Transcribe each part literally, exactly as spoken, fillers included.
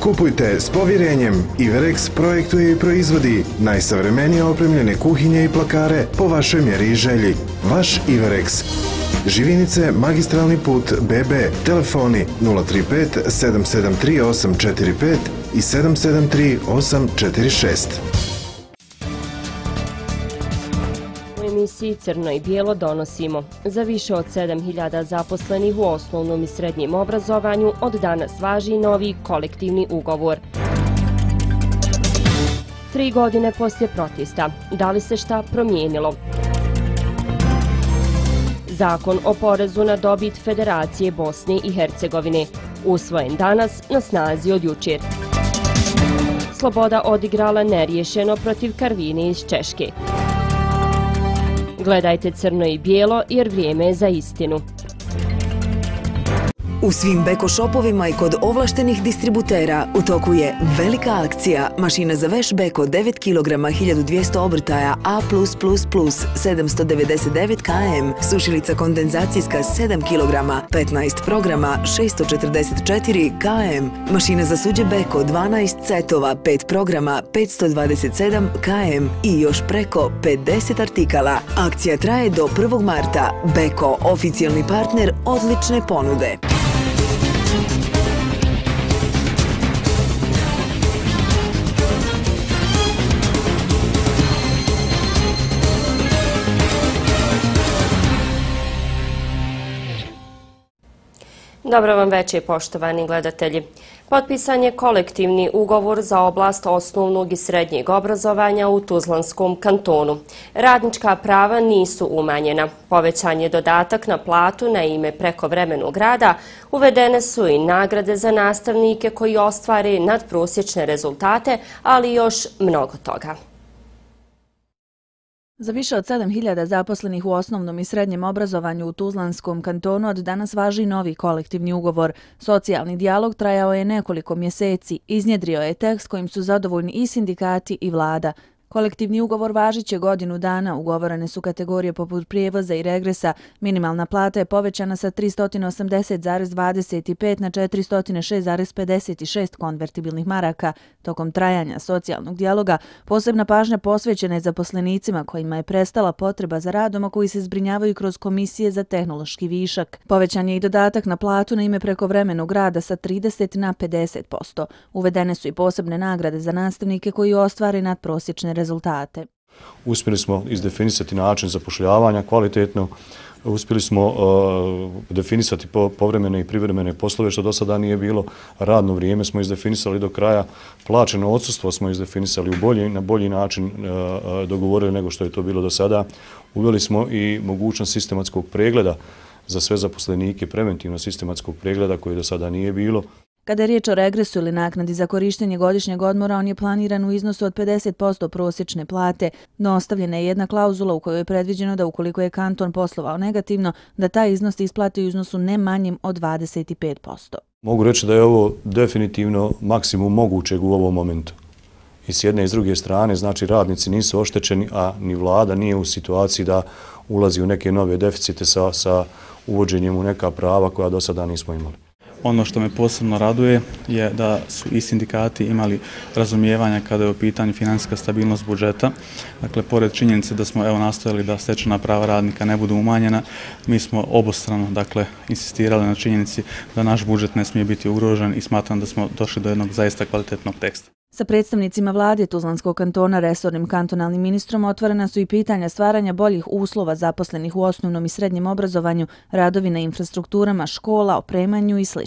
Kupujte s povjerenjem. Iverex projektuje i proizvodi najsavremenije opremljene kuhinje i plakare po vašoj mjeri i želji. Vaš Iverex. Živinice, magistralni put B B, telefoni nula tri pet sedam sedam tri osam četiri pet i sedam sedam tri osam četiri šest. U emisiji Crno i bijelo donosimo: za više od sedam hiljada zaposlenih u osnovnom i srednjem obrazovanju od danas važi novi kolektivni ugovor. Tri godine poslije protesta, da li se šta promijenilo? Zakon o porezu na dobit Federacije Bosne i Hercegovine, usvojen danas, na snazi od jučer. Sloboda odigrala neriješeno protiv Karvine iz Češke. Gledajte Crno i bijelo jer vrijeme je za istinu. U svim Beko šopovima i kod ovlaštenih distributera u toku je velika akcija. Mašina za veš Beko devet kilograma hiljadu dvjesto obrtaja A plus plus plus sedamsto devedeset devet km, sušilica kondenzacijska sedam kilograma petnaest programa šesto četrdeset četiri km, mašina za suđe Beko dvanaest cetova pet programa petsto dvadeset sedam km i još preko pedeset artikala. Akcija traje do prvog marta. Beko, oficijalni partner odlične ponude. Dobro vam večer, poštovani gledatelji. Potpisan je kolektivni ugovor za oblast osnovnog i srednjeg obrazovanja u Tuzlanskom kantonu. Radnička prava nisu umanjena. Povećan je dodatak na platu na ime prekovremenog rada. Uvedene su i nagrade za nastavnike koji ostvare nadprosječne rezultate, ali još mnogo toga. Za više od sedam hiljada zaposlenih u osnovnom i srednjem obrazovanju u Tuzlanskom kantonu od danas važi novi kolektivni ugovor. Socijalni dijalog trajao je nekoliko mjeseci. Iznjedrio je tekst kojim su zadovoljni i sindikati i vlada. Kolektivni ugovor važit će godinu dana. Ugovorene su kategorije poput prijevoza i regresa. Minimalna plata je povećana sa tristo osamdeset zarez dvadeset pet na četiristo šest zarez pedeset šest konvertibilnih maraka. Tokom trajanja socijalnog dijaloga posebna pažnja posvećena je zaposlenicima kojima je prestala potreba za radom, a koji se zbrinjavaju kroz komisije za tehnološki višak. Povećan je i dodatak na platu na ime prekovremenog rada sa trideset na pedeset posto. Uvedene su i posebne nagrade za nastavnike koji ostvare nadprosječne rezultate. Uspjeli smo izdefinisati način zapošljavanja kvalitetno, uspjeli smo uh, definisati po, povremene i privremene poslove, što do sada nije bilo. Radno vrijeme smo izdefinisali do kraja, plaćeno odsustvo smo izdefinisali u bolji, na bolji način uh, dogovorili nego što je to bilo do sada. Uveli smo i mogućnost sistematskog pregleda za sve zaposlenike, preventivno sistematskog pregleda koji do sada nije bilo. Kada je riječ o regresu ili naknadi za korištenje godišnjeg odmora, on je planiran u iznosu od pedeset posto prosječne plate, no ostavljena je jedna klauzula u kojoj je predviđeno da ukoliko je kanton poslovao negativno, da taj iznos isplati u iznosu ne manjim od dvadeset pet posto. Mogu reći da je ovo definitivno maksimum mogućeg u ovom momentu. I s jedne i s druge strane, znači radnici nisu oštećeni, a ni vlada nije u situaciji da ulazi u neke nove deficite sa, sa uvođenjem u neka prava koja do sada nismo imali. Ono što me posebno raduje je da su i sindikati imali razumijevanja kada je u pitanju financijska stabilnost budžeta. Dakle, pored činjenice da smo evo nastojali da stečena prava radnika ne budu umanjena, mi smo obostrano dakle, insistirali na činjenici da naš budžet ne smije biti ugrožen i smatram da smo došli do jednog zaista kvalitetnog teksta. Sa predstavnicima vlade Tuzlanskog kantona, resornim kantonalnim ministrom, otvorena su i pitanja stvaranja boljih uslova zaposlenih u osnovnom i srednjem obrazovanju, radovi na infrastrukturama, škola, opremanju i sl.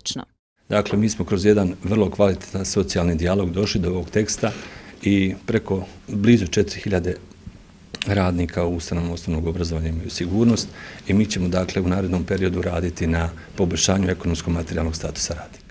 Dakle, mi smo kroz jedan vrlo kvalitetan socijalni dijalog došli do ovog teksta i preko blizu četiri hiljade radnika u ustanovama osnovnog obrazovanja imaju sigurnost i mi ćemo dakle u narednom periodu raditi na poboljšanju ekonomsko-materijalnog statusa radnika.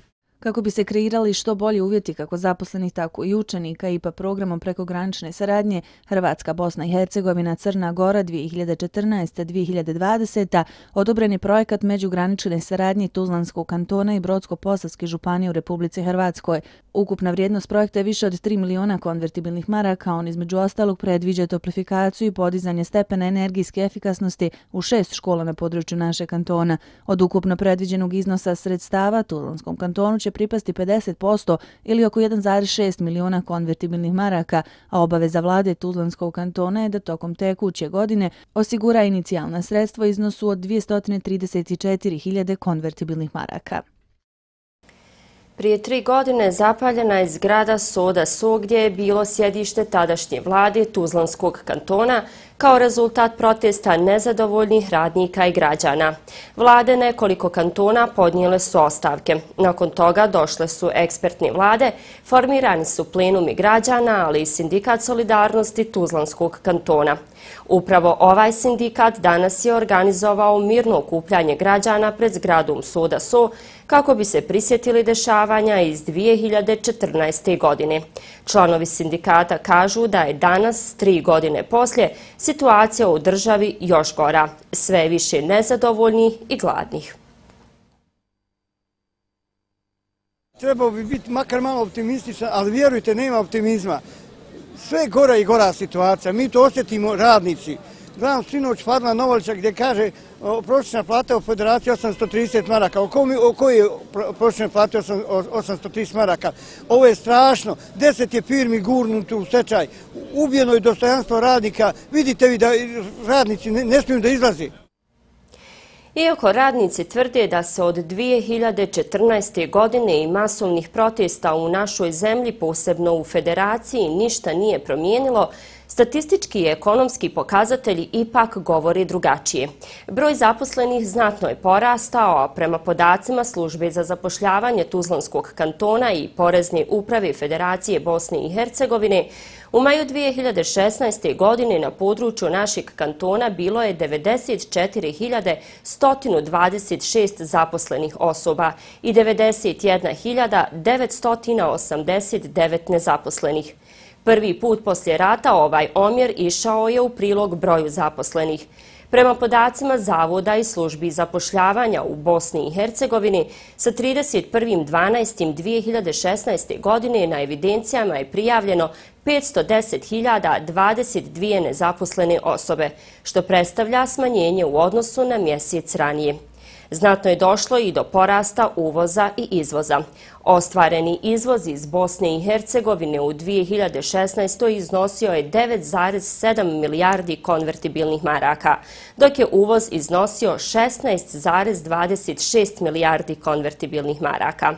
Kako bi se kreirali što bolji uvjeti kako zaposlenih, tako i učenika, I P A programom prekogranične saradnje Hrvatska, Bosna i Hercegovina, Crna Gora dvije hiljade četrnaesta do dvije hiljade dvadeseta odobren je projekat međugranične saradnje Tuzlanskog kantona i Brodsko-posavske županije u Republici Hrvatskoj. Ukupna vrijednost projekta je više od tri miliona konvertibilnih maraka. On između ostalog predviđa toplifikaciju i podizanje stepena energijske efikasnosti u šest škola na području našeg kantona. Od ukupno predviđenog iznosa sredstava Tuzlanskom kantonu će pripasti pedeset posto ili oko jedan zarez šest miliona konvertibilnih maraka, a obaveza vlade Tuzlanskog kantona je da tokom tekuće godine osigura inicijalna sredstva u iznosu od dvjesto trideset četiri hiljade konvertibilnih maraka. Prije tri godine zapaljena je zgrada Soda So gdje je bilo sjedište tadašnje vlade Tuzlanskog kantona kao rezultat protesta nezadovoljnih radnika i građana. Vlade nekoliko kantona podnijele su ostavke. Nakon toga došle su ekspertne vlade, formirani su plenumi građana, ali i sindikat solidarnosti Tuzlanskog kantona. Upravo ovaj sindikat danas je organizovao mirno okupljanje građana pred zgradom Soda So kako bi se prisjetili dešavanja iz dvije hiljade četrnaeste. godine. Članovi sindikata kažu da je danas, tri godine poslije, situacija u državi još gora, sve više nezadovoljnih i gladnih. Trebao bi biti makar malo optimističan, ali vjerujte, nema optimizma. Sve gora i gora situacija, mi to osjetimo radnici. Gledam sinoć Fadla Novovića gdje kaže prosječna plata u Federaciji osamsto trideset maraka. O kojoj je prosječna plata osamsto trideset maraka? Ovo je strašno. Deset je firmi gurnuto u stečaj. Ubijeno je dostojanstvo radnika. Vidite vi da radnici ne smiju da izlazi. Iako radnici tvrde da se od dvije hiljade četrnaeste. godine i masovnih protesta u našoj zemlji, posebno u Federaciji, ništa nije promijenilo, statistički i ekonomski pokazatelji ipak govori drugačije. Broj zaposlenih znatno je porastao, a prema podacima Službe za zapošljavanje Tuzlanskog kantona i Porezne uprave Federacije Bosne i Hercegovine, u maju dvije hiljade šesnaeste. godine na području našeg kantona bilo je devedeset četiri hiljade sto dvadeset šest zaposlenih osoba i devedeset jedna hiljada devetsto osamdeset devet nezaposlenih. Prvi put poslije rata ovaj omjer išao je u prilog broju zaposlenih. Prema podacima Zavoda i službi zapošljavanja u Bosni i Hercegovini, sa trideset prvog dvanaestog dvije hiljade šesnaeste. godine na evidencijama je prijavljeno petsto deset hiljada dvadeset dvije nezaposlene osobe, što predstavlja smanjenje u odnosu na mjesec ranije. Znatno je došlo i do porasta uvoza i izvoza. Ostvareni izvoz iz Bosne i Hercegovine u dvije hiljade šesnaestoj. iznosio je devet zarez sedam milijardi konvertibilnih maraka, dok je uvoz iznosio šesnaest zarez dvadeset šest milijardi konvertibilnih maraka.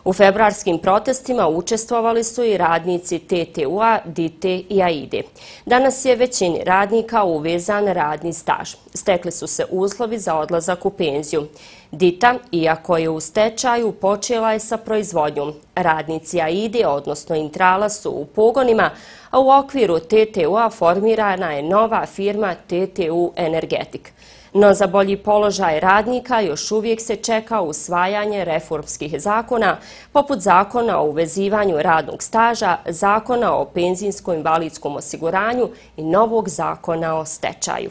U februarskim protestima učestvovali su i radnici T T U-a, D I T E i A I D E. Danas je većini radnika uvezan radni staž. Stekli su se uslovi za odlazak u penziju. D I T A, iako je u stečaju, počela je sa proizvodnjom. Radnici A I D E, odnosno Intrala, su u pogonima, a u okviru T T U-a formirana je nova firma T T U Energetik. No za bolji položaj radnika još uvijek se čeka usvajanje reformskih zakona, poput zakona o uvezivanju radnog staža, zakona o penzijsko-invalidskom osiguranju i novog zakona o stečaju.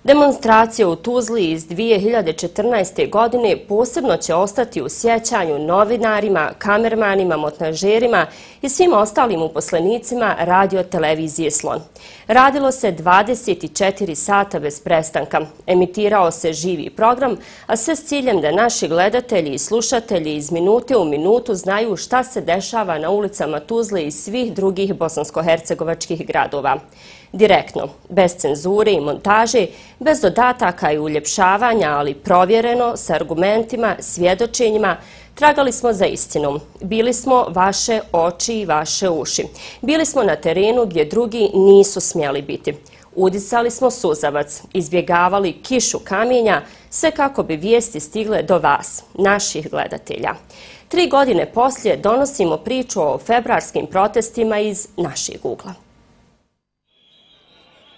Demonstracije u Tuzli iz dvije hiljade četrnaeste. godine posebno će ostati u sjećanju novinarima, kamermanima, montažerima i svim ostalim uposlenicima radio-televizije Slon. Radilo se dvadeset četiri sata bez prestanka. Emitirao se živi program, a sve s ciljem da naši gledatelji i slušatelji iz minute u minutu znaju šta se dešava na ulicama Tuzle i svih drugih bosansko-hercegovačkih gradova. Direktno, bez cenzure i montaže, bez dodataka i uljepšavanja, ali provjereno, s argumentima, svjedočenjima, tragali smo za istinom. Bili smo vaše oči i vaše uši. Bili smo na terenu gdje drugi nisu smjeli biti. Udisali smo suzavac, izbjegavali kišu kamenja, sve kako bi vijesti stigle do vas, naših gledatelja. Tri godine poslije donosimo priču o februarskim protestima iz našeg ugla.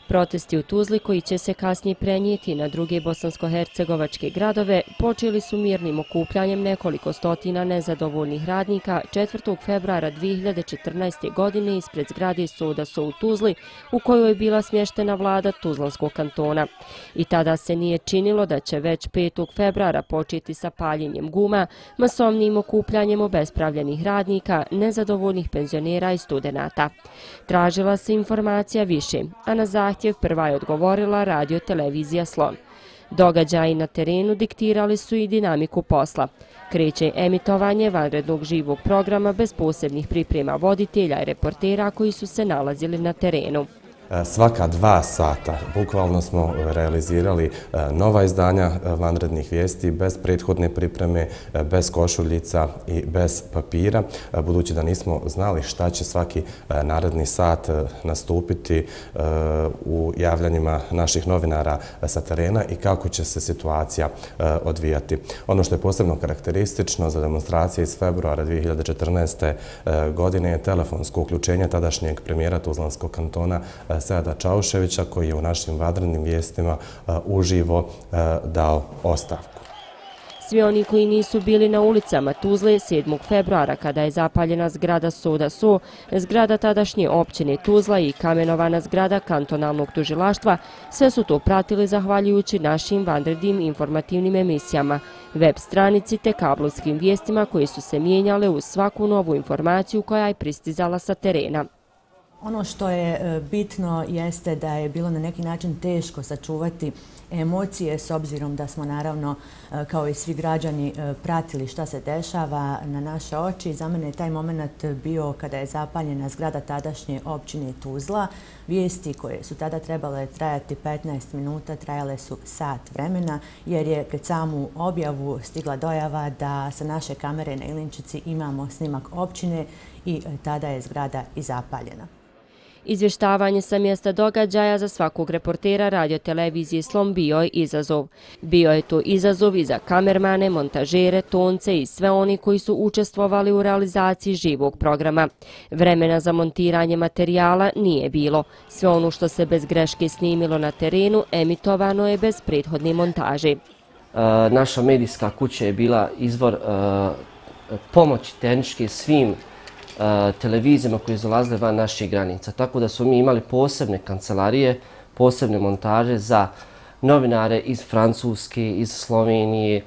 Protesti u Tuzli, koji će se kasnije prenijeti na druge bosansko-hercegovačke gradove, počeli su mirnim okupljanjem nekoliko stotina nezadovoljnih radnika četvrtog februara dvije hiljade četrnaeste. godine ispred zgrade Soda So u Tuzli, u kojoj je bila smještena vlada Tuzlanskog kantona. I tada se nije činilo da će već petog februara početi sa paljenjem guma, masovnim okupljanjem obespravljenih radnika, nezadovoljnih penzionera i studenata. Tražila se informacija više, a na zahtjev prva je odgovorila radio televizija Slon. Događaji na terenu diktirali su i dinamiku posla. Kreće emitovanje vanrednog živog programa bez posebnih priprema voditelja i reportera koji su se nalazili na terenu. Svaka dva sata bukvalno smo realizirali nova izdanja vanrednih vijesti bez prethodne pripreme, bez košuljica i bez papira, budući da nismo znali šta će svaki naredni sat nastupiti u javljanjima naših novinara sa terena i kako će se situacija odvijati. Ono što je posebno karakteristično za demonstracije iz februara dvije hiljade četrnaeste. godine je telefonsko uključenje tadašnjeg premijera Tuzlanskog kantona Seada Čauševića, koji je u našim vanrednim vijestima uživo dao ostavku. Svi oni koji nisu bili na ulicama Tuzle sedmog februara kada je zapaljena zgrada Soda So, zgrada tadašnje općine Tuzla i kamenovana zgrada kantonalnog tužilaštva, sve su to pratili zahvaljujući našim vanrednim informativnim emisijama, web stranici te kablovskim vijestima koji su se mijenjale uz svaku novu informaciju koja je pristizala sa terena. Ono što je bitno jeste da je bilo na neki način teško sačuvati emocije s obzirom da smo naravno kao i svi građani pratili šta se dešava na naše oči. Za mene je taj moment bio kada je zapaljena zgrada tadašnje općine Tuzla. Vijesti koje su tada trebale trajati petnaest minuta trajale su sat vremena jer je pred samu objavu stigla dojava da sa naše kamere na Ilinčici imamo snimak općine i tada je zgrada i zapaljena. Izvještavanje sa mjesta događaja za svakog reportera radio televizije Slon bio je izazov. Bio je to izazov i za kamermane, montažere, tonce i sve oni koji su učestvovali u realizaciji živog programa. Vremena za montiranje materijala nije bilo. Sve ono što se bez greške snimilo na terenu emitovano je bez prethodne montaže. Naša medijska kuća je bila izvor pomoći tehničke svim televizijama koje zalazile van naših granica. Tako da smo mi imali posebne kancelarije, posebne montaže za novinare iz Francuske, iz Slovenije,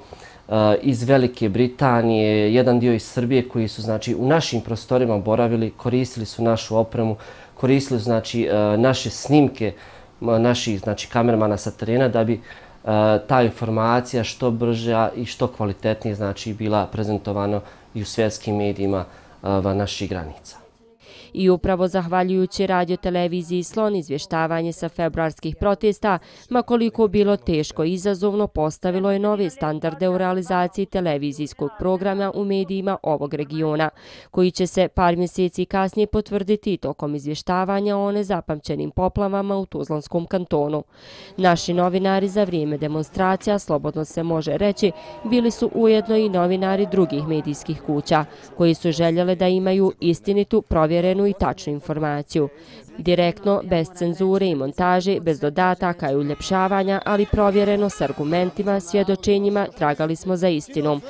iz Velike Britanije, jedan dio iz Srbije koji su znači u našim prostorima boravili, koristili su našu opremu, koristili su znači naše snimke naših znači kamermana sa terena da bi ta informacija što brža i što kvalitetnije znači bila prezentovana i u svjetskim medijima van naših granica. I upravo zahvaljujući radio televiziji Slon izvještavanje sa februarskih protesta, ma koliko bilo teško i izazovno, postavilo je nove standarde u realizaciji televizijskog programa u medijima ovog regiona, koji će se par mjeseci kasnije potvrditi tokom izvještavanja o nezapamćenim poplavama u Tuzlanskom kantonu. Naši novinari za vrijeme demonstracija, slobodno se može reći, bili su ujedno i novinari drugih medijskih kuća, koji su željele da imaju istinitu, provjerenu i tačnu informaciju. Direktno, bez cenzure i montaže, bez dodataka i uljepšavanja, ali provjereno s argumentima, svjedočenjima, tragali smo za istinom.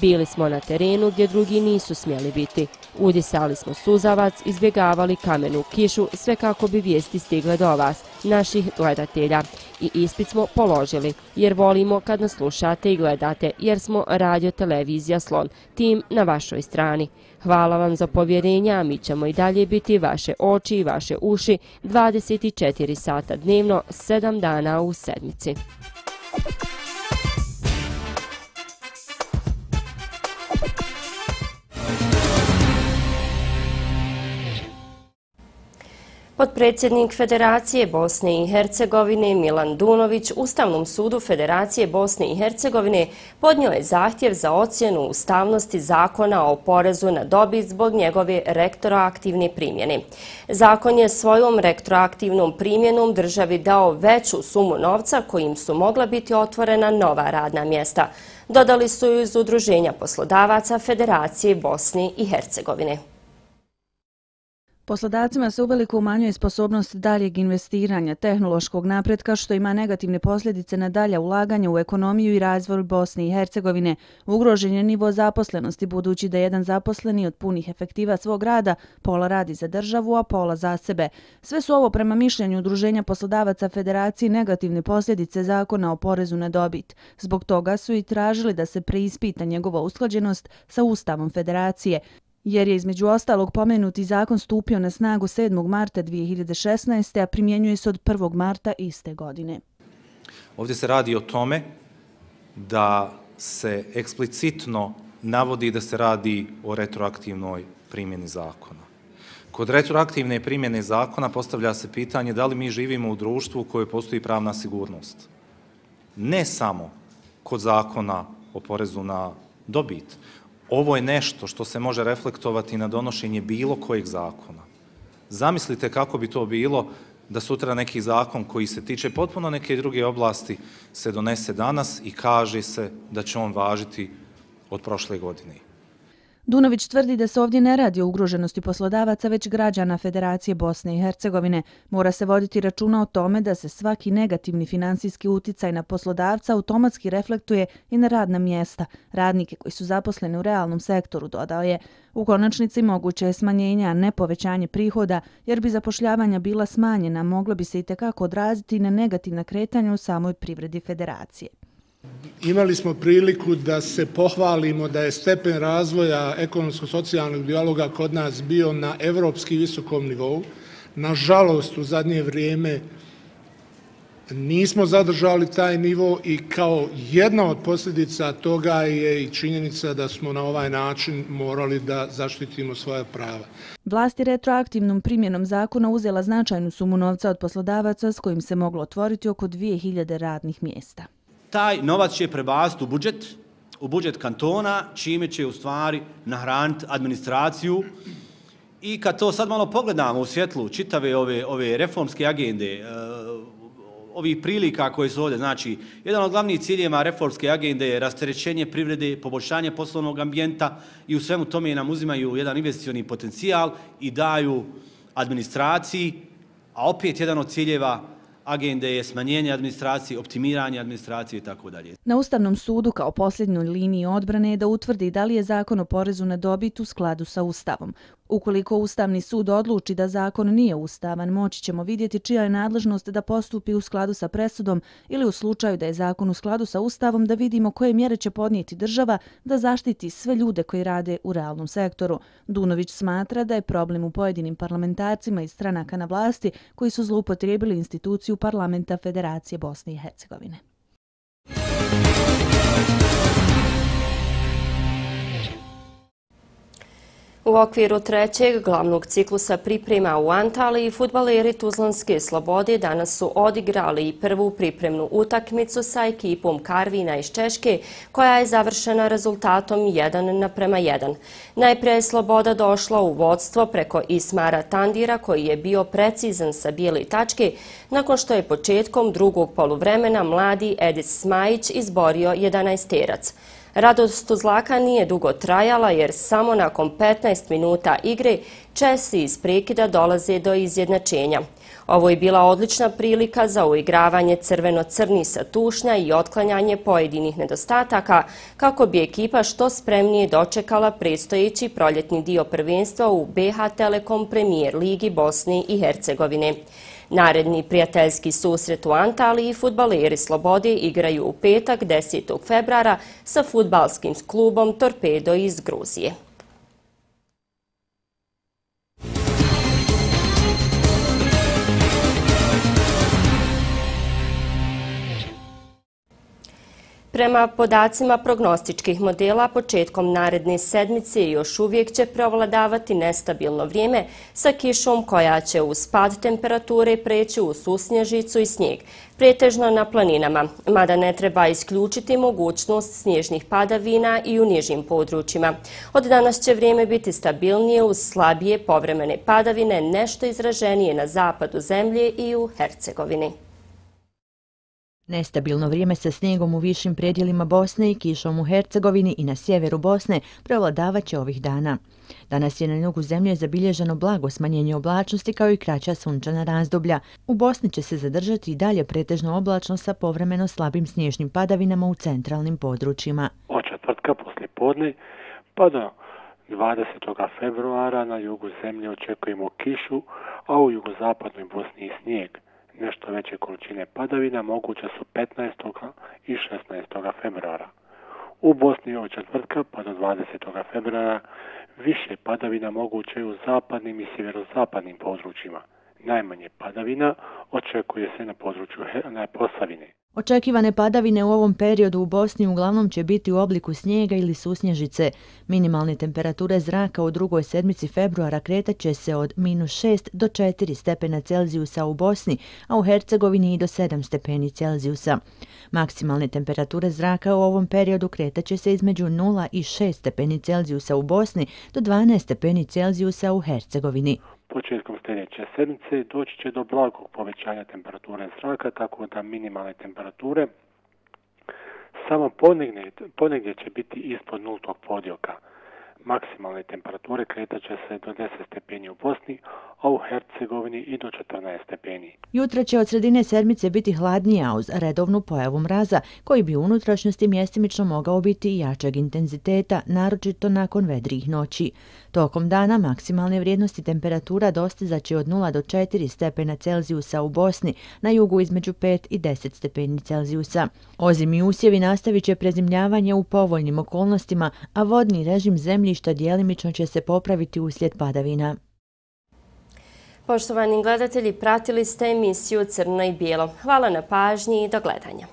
Bili smo na terenu gdje drugi nisu smjeli biti. Udisali smo suzavac, izbjegavali kamenu kišu, sve kako bi vijesti stigle do vas, naših gledatelja. I ispit smo položili, jer volimo kad nas slušate i gledate, jer smo radio televizija Slon, tim na vašoj strani. Hvala vam za povjerenje, a mi ćemo i dalje biti vaše oči i vaše uši dvadeset četiri sata dnevno, sedam dana u sedmici. Potpredsjednik Federacije Bosne i Hercegovine Milan Dunović Ustavnom sudu Federacije Bosne i Hercegovine podnio je zahtjev za ocjenu ustavnosti zakona o porezu na dobit zbog njegove retroaktivne primjene. Zakon je svojom retroaktivnom primjenom državi dao veću sumu novca kojim su mogla biti otvorena nova radna mjesta. Dodali su iz Udruženja poslodavaca Federacije Bosne i Hercegovine. Poslodavcima se uveliko umanjuje sposobnost daljeg investiranja, tehnološkog napretka, što ima negativne posljedice na dalja ulaganja u ekonomiju i razvoj Bosne i Hercegovine. Ugrožen je nivo zaposlenosti, budući da jedan zaposleni od punih efektiva svog rada pola radi za državu, a pola za sebe. Sve su ovo prema mišljenju Udruženja poslodavaca Federacije negativne posljedice zakona o porezu na dobit. Zbog toga su i tražili da se preispita njegova usklađenost sa Ustavom Federacije, jer je između ostalog pomenuti zakon stupio na snagu sedmog marta dvije hiljade šesnaeste. a primjenjuje se od prvog marta iste godine. Ovdje se radi o tome da se eksplicitno navodi da se radi o retroaktivnoj primjeni zakona. Kod retroaktivne primjene zakona postavlja se pitanje da li mi živimo u društvu u kojoj postoji pravna sigurnost. Ne samo kod zakona o porezu na dobit. Ovo je nešto što se može reflektovati na donošenje bilo kojeg zakona. Zamislite kako bi to bilo da sutra neki zakon koji se tiče potpuno neke druge oblasti se donese danas i kaže se da će on važiti od prošle godine. Dunović tvrdi da se ovdje ne radi o ugroženosti poslodavaca, već građana Federacije Bosne i Hercegovine. Mora se voditi računa o tome da se svaki negativni finansijski uticaj na poslodavca automatski reflektuje i na radna mjesta, radnike koji su zaposleni u realnom sektoru, dodao je. U konačnici moguće je smanjenje, a ne povećanje prihoda, jer bi zapošljavanja bila smanjena, moglo bi se i tekako odraziti na negativna kretanja u samoj privredi Federacije. Imali smo priliku da se pohvalimo da je stepen razvoja ekonomsko-socijalnog dijaloga kod nas bio na evropski visokom nivou. Nažalost, u zadnje vrijeme nismo zadržali taj nivo i kao jedna od posljedica toga je i činjenica da smo na ovaj način morali da zaštitimo svoja prava. Vlast je retroaktivnom primjenom zakona uzela značajnu sumu novca od poslodavaca s kojim se moglo otvoriti oko dvije hiljade radnih mjesta. Taj novac će prebaciti u budžet, u budžet kantona, čime će u stvari nahraniti administraciju. I kad to sad malo pogledamo u svjetlu čitave ove, ove reformske agende, ovih prilika koje su ovdje, znači, jedan od glavnih ciljeva reformske agende je rasterećenje privrede, poboljšanje poslovnog ambijenta i u svemu tome nam uzimaju jedan investicioni potencijal i daju administraciji, a opet jedan od ciljeva agende je smanjenje administracije, optimiranje administracije i tako dalje. Na Ustavnom sudu kao posljednjoj liniji odbrane je da utvrdi da li je zakon o porezu na dobit u skladu sa Ustavom. Ukoliko Ustavni sud odluči da zakon nije ustavan, moći ćemo vidjeti čija je nadležnost da postupi u skladu sa presudom ili u slučaju da je zakon u skladu sa Ustavom da vidimo koje mjere će podnijeti država da zaštiti sve ljude koji rade u realnom sektoru. Dunović smatra da je problem u pojedinim parlamentarcima iz stranaka na vlasti koji su zloupotrijebili instituciju Parlamenta Federacije Bosne i Hercegovine. U okviru trećeg glavnog ciklusa priprema u Antaliji, fudbaleri Tuzlanske Slobode danas su odigrali prvu pripremnu utakmicu sa ekipom Karvina iz Češke, koja je završena rezultatom jedan naprema jedan. Najprije je Sloboda došla u vodstvo preko Ismara Tandira, koji je bio precizan sa bijele tačke, nakon što je početkom drugog poluvremena mladi Edis Smajić izborio jedanaesterac. Radost Tuzlaka nije dugo trajala jer samo nakon petnaest minuta igre Česi iz prekida dolaze do izjednačenja. Ovo je bila odlična prilika za uigravanje crveno-crni sa tušnja i otklanjanje pojedinih nedostataka kako bi ekipa što spremnije dočekala predstojeći proljetni dio prvenstva u B H Telekom Premier Ligi Bosne i Hercegovine. Naredni prijateljski susret u Antaliji fudbaleri Slobode igraju u petak desetog februara sa fudbalskim klubom Torpedo iz Gruzije. Prema podacima prognostičkih modela, početkom naredne sedmice još uvijek će preovladavati nestabilno vrijeme sa kišom koja će uz pad temperature preći u susnježicu i snijeg, pretežno na planinama, mada ne treba isključiti mogućnost snježnih padavina i u nižim područjima. Od danas će vrijeme biti stabilnije uz slabije povremene padavine, nešto izraženije na zapadu zemlje i u Hercegovini. Nestabilno vrijeme sa snijegom u višim predjelima Bosne i kišom u Hercegovini i na sjeveru Bosne prevladavaće ovih dana. Danas je na jugu zemlje zabilježeno blago smanjenje oblačnosti kao i kraća sunčana razdoblja. U Bosni će se zadržati i dalje pretežno oblačno sa povremeno slabim snježnim padavinama u centralnim područjima. Od četvrtka poslije podne pa do dvadesetog februara na jugu zemlje očekujemo kišu, a u jugozapadnoj Bosni i snijeg. Nešto veće količine padavina moguće su petnaestog i šesnaestog februara. U Bosni od četvrtka pa do dvadesetog februara više padavina moguće u zapadnim i sjeverozapadnim područjima. Najmanje padavina očekuje se na području na Posavine. Očekivane padavine u ovom periodu u Bosni uglavnom će biti u obliku snijega ili susnježice. Minimalne temperature zraka u drugoj sedmici februara kretat će se od minus šest do četiri stepena Celzijusa u Bosni, a u Hercegovini i do sedam stepeni Celzijusa. Maksimalne temperature zraka u ovom periodu kretat će se između nula i šest stepeni Celzijusa u Bosni do dvanaest stepeni Celzijusa u Hercegovini. Početkom sljedeće sedmice doći će do blagog povećanja temperature zraka, tako da minimalne temperature samo ponegdje, ponegdje će biti ispod nultog podioka. Maksimalne temperature kretat će se do deset stepeni u Bosni, a u Hercegovini i do četrnaest stepeni. Jutra će od sredine sedmice biti hladnija uz redovnu pojavu mraza, koji bi u unutrašnjosti mjestimično mogao biti i jačeg intenziteta, naročito nakon vedrijih noći. Tokom dana maksimalne vrijednosti temperatura dostizaće od nula do četiri stepena Celzijusa u Bosni, na jugu između pet i deset stepeni Celzijusa. Ozimi usjevi nastavit će prezimljavanje u povoljnim okolnostima, a vodni režim zemljišta djelimično će se popraviti uslijed padavina. Poštovani gledatelji, pratili ste emisiju Crno i bijelo. Hvala na pažnji i do gledanja.